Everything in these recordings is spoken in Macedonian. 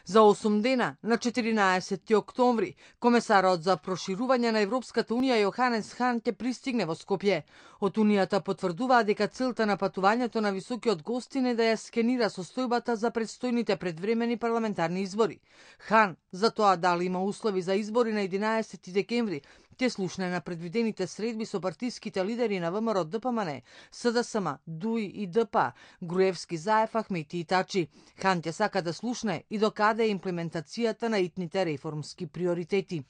За 8 дена, на 14 октомври, комесарот за проширување на Европската унија Јоханес Хан ќе пристигне во Скопје. Од Унијата потврдуваа дека целта на патувањето на високиот гостин е да ја скенира состојбата за предстојните предвремени парламентарни избори. Хан, за тоа дали има услови за избори на 11 декември, ќе слушне на предвидените средби со партиските лидери на ВМРО ДПМН, СДСМ, ДУИ и ДП, Груевски, Заев, Ахмети и Тачи. Хан ќе сака да слушне и докаде е имплементацијата на итните реформски приоритети.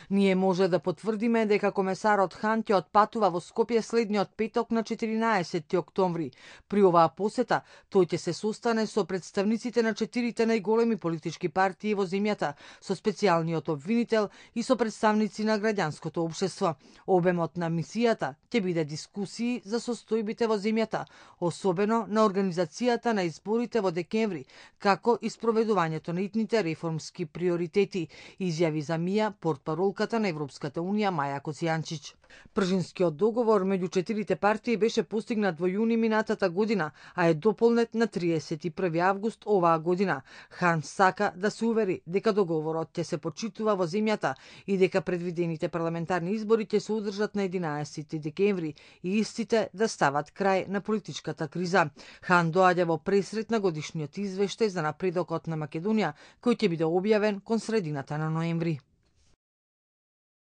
Ние може да потврдиме дека комесарот Хан ќе отпатува во Скопје следниот петок на 14 октомври. При оваа посета, тој ќе се состане со представниците на 4 најголеми политички партии во земјата, со специјалниот обвинител и со представници на граѓанското општество. Обемот на мисијата ќе биде дискусии за состојбите во земјата, особено на организацијата на изборите во декември, како и спроведувањето на итните реформски приоритети, изјави за МИА портпаролката на Европската унија Маја Коцијанчич. Пржинскиот договор меѓу 4 партии беше постигнат во јуни минатата година, а е дополнет на 31 август оваа година. Хан сака да се увери дека договорот ќе се почитува во земјата и дека предвидените парламентарни избори ќе се одржат на 11 декември и истите да стават крај на политичката криза. Хан доаѓа во пресрет на годишниот извештај за напредокот на Македонија, кој ќе биде објавен кон средината на ноември.